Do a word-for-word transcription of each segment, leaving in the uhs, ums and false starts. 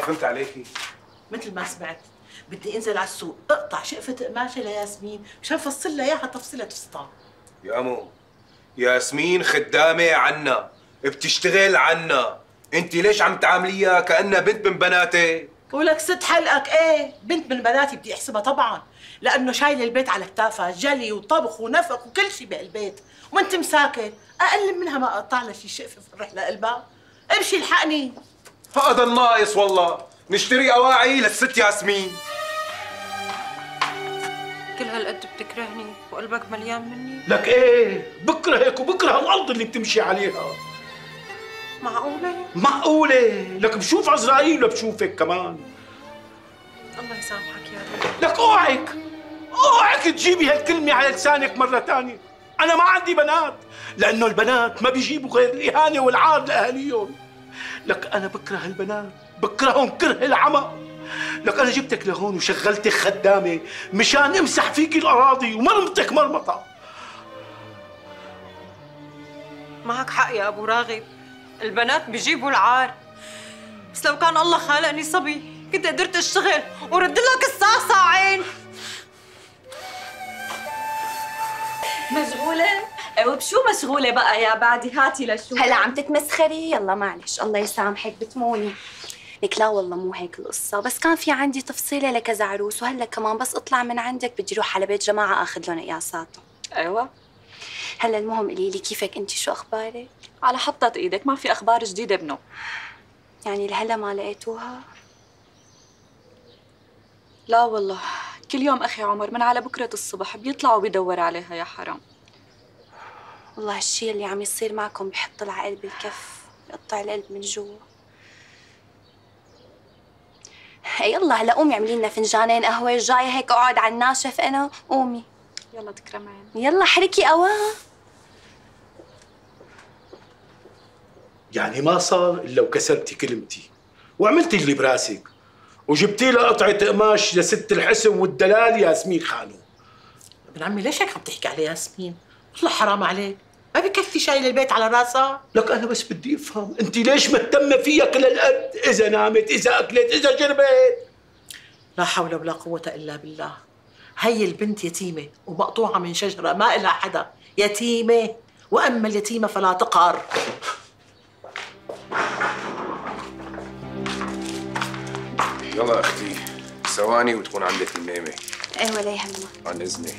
فهمت عليكي؟ مثل ما سمعت، بدي انزل على السوق اقطع شقفة قماشة لياسمين مشان فصل لها اياها تفصيلة فستان. يا امو ياسمين خدامة عنا، بتشتغل عنا، انت ليش عم تعامليها كأنها بنت من بناتي؟ ولك ست حلقك ايه، بنت من بناتي بدي احسبها طبعا، لانه شايل البيت على كتافها، جلي وطبخ ونفق وكل شيء بهالبيت، وانت مساكن، اقل منها ما اقطع لها شي شقفة فرح لقلبها؟ امشي الحقني. هذا الناقص والله، نشتري اواعي للست ياسمين. كل هالقد بتكرهني وقلبك مليان مني؟ لك ايه، بكرهك وبكره الارض اللي بتمشي عليها. معقولة؟ معقولة؟ لك بشوف عزرائيل وبشوفك كمان. الله يسامحك يا رب. لك اوعك اوعك تجيبي هالكلمة على لسانك مرة ثانية. أنا ما عندي بنات، لأنه البنات ما بيجيبوا غير الإهانة والعار لأهاليهم. لك أنا بكره البنات، بكرههم كره العمى. لك أنا جبتك لهون وشغلتك خدامة مشان امسح فيك الأراضي ومرمطك مرمطة. معك حق يا أبو راغب، البنات بيجيبوا العار، بس لو كان الله خالقني صبي كنت قدرت اشتغل ورد لك الساعة ساعين. مشغولة؟ وبشو مشغولة بقى يا بعدي؟ هاتي لشو هلا عم تتمسخري؟ يلا معلش الله يسامحك بتموني. لك لا والله مو هيك القصة، بس كان في عندي تفصيلة لكذا عروس، وهلا كمان بس اطلع من عندك بدي اروح على بيت جماعة اخذ لهم قياساتهم. ايوه. هلا المهم قولي لي كيفك انت، شو اخبارك؟ على حطة ايدك، ما في اخبار جديدة ابنه. يعني لهلا ما لقيتوها؟ لا والله، كل يوم اخي عمر من على بكرة الصبح بيطلع وبيدور عليها يا حرام. والله هالشي اللي عم يصير معكم بحط العقل بالكف، بقطع القلب من جوا. يلا هلا قومي اعملي لنا فنجانين قهوة، جاية هيك اقعد على الناشف انا، قومي. يلا تكرم عيني. يلا حركي اوان. يعني ما صار الا وكسرتي كلمتي وعملتي اللي براسك وجبتي لها قطعة قماش لست الحسن والدلال ياسمين خانو. ابن عمي ليش هيك عم تحكي على ياسمين؟ والله حرام عليك، ما بكفي شايل البيت على راسها؟ لك انا بس بدي افهم انت ليش مهتمه فيها كل هالقد؟ اذا نامت، اذا اكلت، اذا شربت. لا حول ولا قوة الا بالله. هي البنت يتيمة ومقطوعة من شجرة ما إلها حدا، يتيمة، واما اليتيمة فلا تقهر. يلا اختي ثواني وتكون عندك الميمة. ايه ولا يهمك. عن اذني.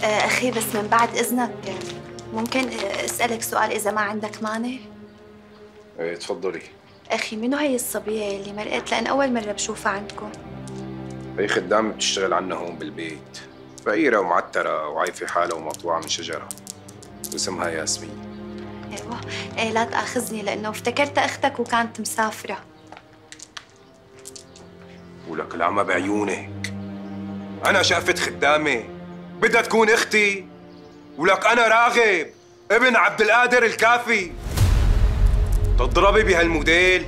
آه اخي بس من بعد اذنك ممكن اسالك سؤال اذا ما عندك مانع؟ ايه تفضلي. اخي منو هي الصبيه اللي مرقت؟ لان اول مره بشوفها عندكم. هي خدامه بتشتغل عنا هون بالبيت، فقيره ومعتره وعايفه حالها ومقطوعه من شجره، واسمها ياسمين. ايوه. ايه لا تاخذني لانه افتكرتها اختك وكانت مسافره. ولك العمى بعيونك، انا شقفت خدامه بدها تكون اختي؟ ولك انا راغب ابن عبد القادر الكافي، تضربي بهالموديل؟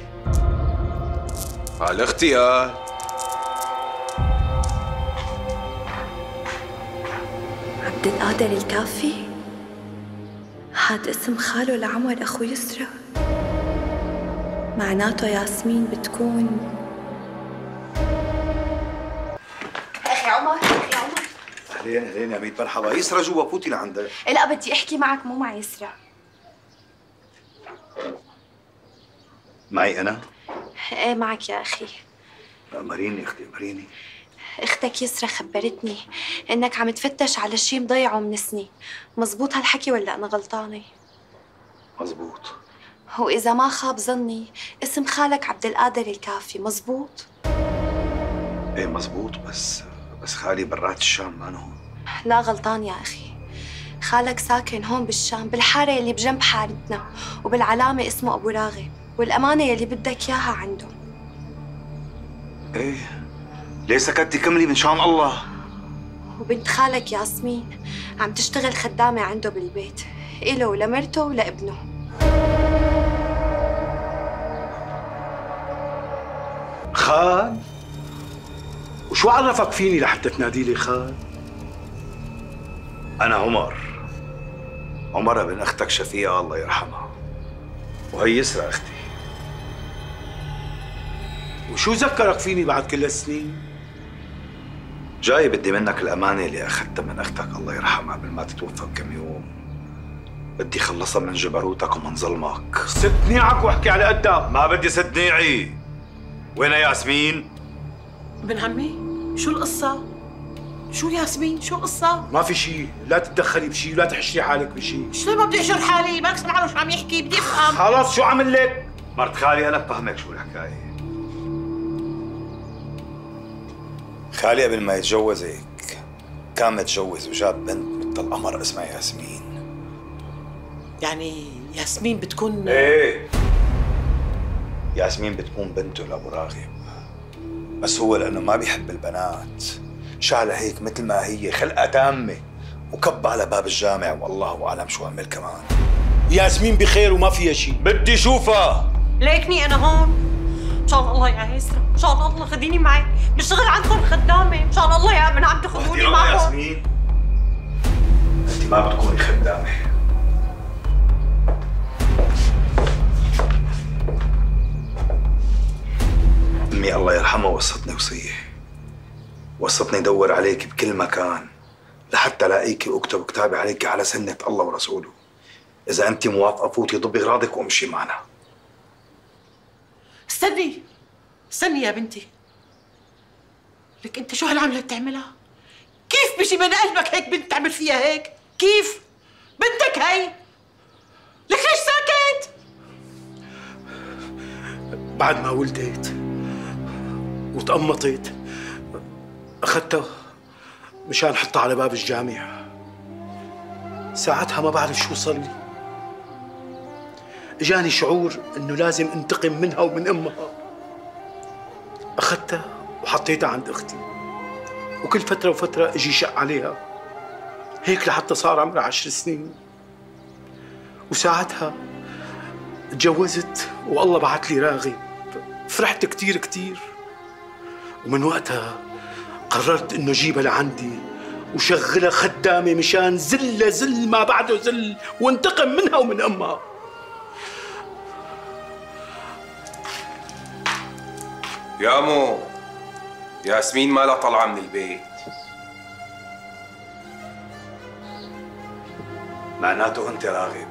هالاختيار. عبد القادر الكافي؟ هاد اسم خاله لعمر اخو يسرى، معناته ياسمين بتكون. اخي عمر، اخي عمر. اهلين اهلين يا ميت، مرحبا. يسرى جوا، فوتي لعندك. لا بدي احكي معك مو مع يسرى. معي انا؟ ايه معك يا اخي. امريني اختي امريني. اختك يسرى خبرتني انك عم تفتش على شيء مضيعه من سنين، مزبوط هالحكي ولا انا غلطانه؟ مزبوط. واذا ما خاب ظني اسم خالك عبد القادر الكافي، مزبوط؟ ايه مزبوط، بس بس خالي برات الشام ما هون. لا غلطان يا اخي، خالك ساكن هون بالشام بالحاره اللي بجنب حارتنا، وبالعلامه اسمه ابو راغب، والامانه يلي بدك اياها عنده. ايه ليه سكتي؟ كملي من شان الله. وبنت خالك ياسمين عم تشتغل خدامه عنده بالبيت، إله ولمرته ولابنه. خال؟ وشو عرفك فيني لحتى تنادي لي خال؟ انا عمر، عمر ابن اختك شفيقة الله يرحمها، وهي يسرى اختي. وشو ذكرك فيني بعد كل هالسنين؟ جاي بدي منك الأمانة اللي أخذتها من أختك الله يرحمها قبل ما تتوفى بكم يوم. بدي خلصها من جبروتك ومن ظلمك. سد نيعك واحكي على قدك. ما بدي سد نيعي. وين ياسمين؟ ابن عمي شو القصة؟ شو ياسمين؟ شو القصة؟ ما في شيء، لا تتدخلي بشيء ولا تحشري حالك بشيء. شو ما بدي احشر حالي؟ ما سمعانه شو عم يحكي، بدي افهم. خلص شو عمل لك؟ مرت خالي أنا بفهمك شو الحكاية. خالي قبل ما يتجوزك كان متجوز وجاب بنت مثل القمر اسمها ياسمين. يعني ياسمين بتكون ايه ياسمين بتكون بنته لأبو راغب، بس هو لأنه ما بيحب البنات شالها هيك مثل ما هي خلقة تامة وكب على باب الجامع والله أعلم شو عمل كمان. ياسمين بخير وما فيها شيء. بدي شوفها. ليكني انا هون مشان الله يا يسرا، مشان الله خديني معي، بشتغل عندكم خدامه، مشان الله يا ابن عم تاخذوني معكم. ياسمين انت ما بتكوني خدامه. امي الله يرحمها وصتني وصيه، وصتني دور عليك بكل مكان لحتى لاقيكي واكتب كتابي عليك على سنه الله ورسوله. اذا انت موافقه فوتي ضبي اغراضك وامشي معنا. استني استني يا بنتي، لك انت شو هالعمله بتعملها؟ كيف بيجي من قلبك هيك بنت تعمل فيها هيك؟ كيف؟ بنتك هي، لك ليش ساكت؟ بعد ما ولدت وتقمطت اخذتها مشان حطها على باب الجامع. ساعتها ما بعرف شو صار لي، اجاني شعور انه لازم انتقم منها ومن امها. اخذتها وحطيتها عند اختي، وكل فتره وفتره اجي شق عليها هيك لحتى صار عمرها عشر سنين. وساعتها تجوزت والله بعت لي راغب. فرحت كتير كتير، ومن وقتها قررت انه جيبها لعندي وشغلها خدامه مشان زلة زل ما بعده زل وانتقم منها ومن امها. يا مو ياسمين مالها طالعه من البيت. معناته انت راغب،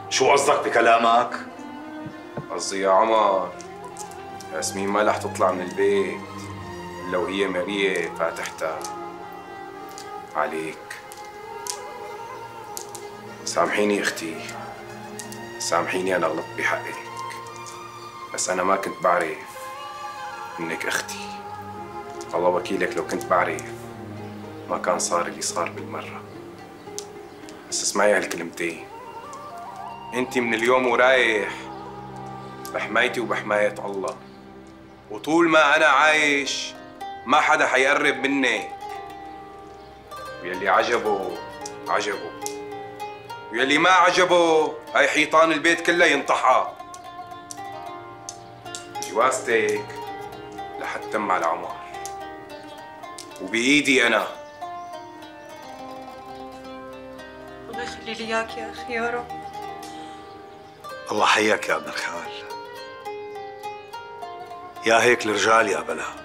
شو قصدك بكلامك؟ قصدي يا عمر ياسمين ما رح تطلع من البيت الا وهي ماريه فاتحتها عليك. سامحيني اختي، سامحيني انا غلطت بحقك، بس انا ما كنت بعرف انك اختي. الله وكيلك لو كنت بعرف ما كان صار اللي صار بالمره. بس اسمعي هالكلمتين، انت من اليوم ورايح بحمايتي وبحماية الله، وطول ما انا عايش ما حدا حيقرب مني. ويلي عجبه عجبه، ويلي ما عجبه هاي حيطان البيت كلها ينطحها. جوازتك لحتم على عمر وبإيدي انا. الله يخلي لي اياك يا اخي يا رب. الله حياك يا ابن الخال. يا هيك الرجال يا بلا.